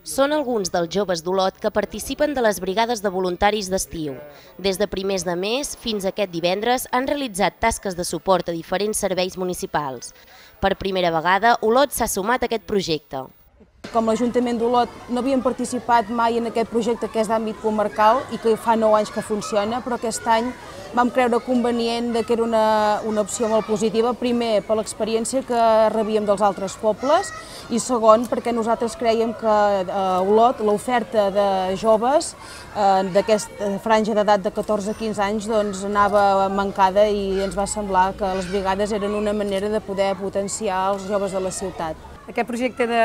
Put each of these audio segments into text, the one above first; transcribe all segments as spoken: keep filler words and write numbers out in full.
Són alguns dels joves d'Olot que participen de les brigades de voluntaris d'estiu. Des de primers de mes fins a aquest divendres han realitzat tasques de suport a diferents serveis municipals. Per primera vegada, Olot s'ha sumat a aquest projecte. Com l'Ajuntament d'Olot no havíem participat mai en aquest projecte que és d'àmbit comarcal i que fa nou anys que funciona, però aquest any vam creure convenient que era una, una opció molt positiva, primer per l'experiència que rebíem dels altres pobles i segon perquè nosaltres creiem que a Olot l'oferta de joves eh, d'aquesta franja d'edat de catorze a quinze anys doncs, anava mancada i ens va semblar que les brigades eren una manera de poder potenciar els joves de la ciutat. Aquest projecte de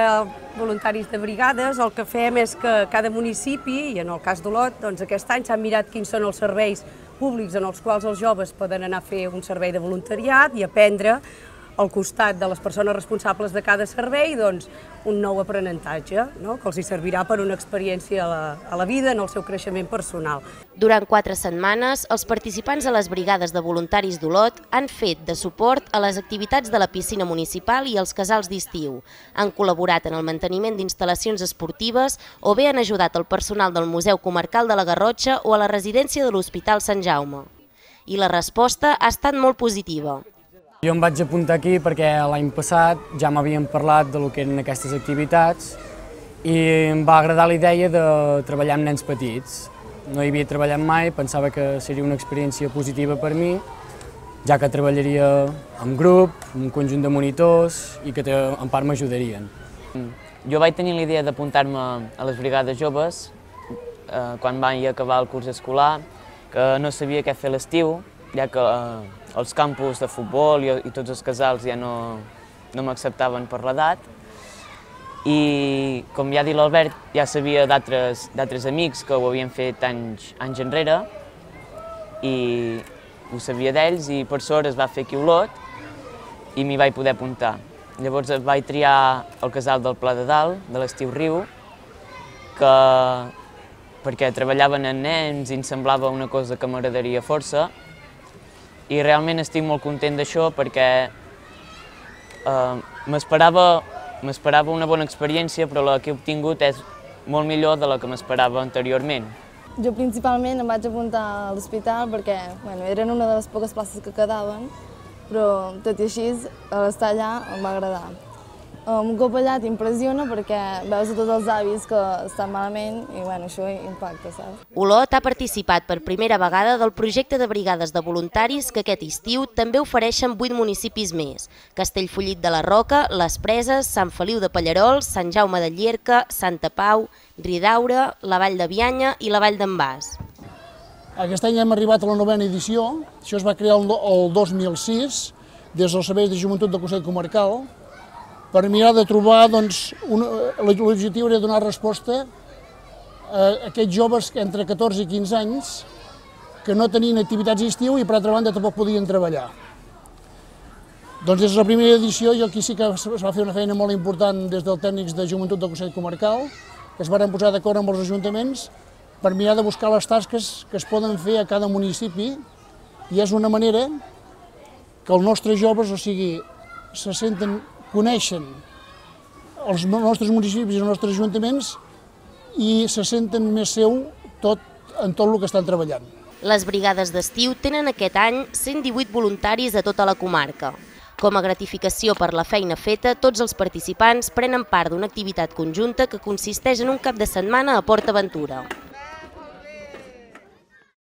voluntaris de brigades el que fem és que cada municipi, i en el cas d'Olot, doncs aquest any s'han mirat quins són els serveis públics en els quals els joves poden anar a fer un servei de voluntariat i aprendre al costat de les persones responsables de cada servei doncs, un nou aprenentatge, no? Que els hi servirà per una experiència a la, a la vida, en el seu creixement personal. Durant quatre setmanes, els participants a les brigades de voluntaris d'Olot han fet de suport a les activitats de la piscina municipal i els casals d'estiu. Han col·laborat en el manteniment d'instal·lacions esportives o bé han ajudat el personal del Museu Comarcal de la Garrotxa o a la residència de l'Hospital Sant Jaume. I la resposta ha estat molt positiva. Jo em vaig apuntar aquí perquè l'any passat ja m'havien parlat de lo que eren aquestes activitats i em va agradar la idea de treballar amb nens petits. No hi havia treballat mai, pensava que seria una experiència positiva per mi, ja que treballaria en grup, amb un conjunt de monitors i que en part m'ajudarien. Jo vaig tenir la idea d'apuntar-me a les brigades joves eh, quan vaig acabar el curs escolar, que no sabia què fer a l'estiu, ja que eh, els campus de futbol i, i tots els casals ja no, no m'acceptaven per l'edat. I, com ja ha dit l'Albert, ja sabia d'altres amics que ho havien fet anys, anys enrere i ho sabia d'ells i per sort es va fer aquí a Olot i m'hi vaig poder apuntar. Llavors vaig triar el casal del Pla de Dalt, de l'Estiu Riu, que, perquè treballaven amb nens i em semblava una cosa que m'agradaria força. I realment estic molt content d'això perquè eh, m'esperava una bona experiència, però la que he obtingut és molt millor de la que m'esperava anteriorment. Jo principalment em vaig apuntar a l'hospital perquè bueno, eren una de les poques places que quedaven, però tot i així, estar allà em va agradar. Un cop allà t'impressiona perquè veus a tots els avis que estan malament i bueno, això impacta, saps? Olot ha participat per primera vegada del projecte de brigades de voluntaris que aquest estiu també ofereixen vuit municipis més: Castellfollit de la Roca, Les Preses, Sant Feliu de Pallerols, Sant Jaume de Llierca, Santa Pau, Ridaura, la Vall de Bianya i la Vall d'en Bas. Aquest any hem arribat a la novena edició, això es va crear el dos mil sis des dels serveis de joventut del Consell Comarcal, per mirar de trobar, doncs, l'objectiu era donar resposta a aquests joves entre catorze i quinze anys que no tenien activitats d'estiu i per altra banda tampoc podien treballar. Doncs des de la primera edició jo aquí sí que es va fer una feina molt important des dels tècnics de joventut del Consell Comarcal, que es van posar d'acord amb els ajuntaments per mirar de buscar les tasques que es poden fer a cada municipi i és una manera que els nostres joves, o sigui, se senten coneixen els nostres municipis i els nostres ajuntaments i se senten més seu tot, en tot el que estan treballant. Les brigades d'estiu tenen aquest any cent divuit voluntaris a tota la comarca. Com a gratificació per la feina feta, tots els participants prenen part d'una activitat conjunta que consisteix en un cap de setmana a Port Aventura.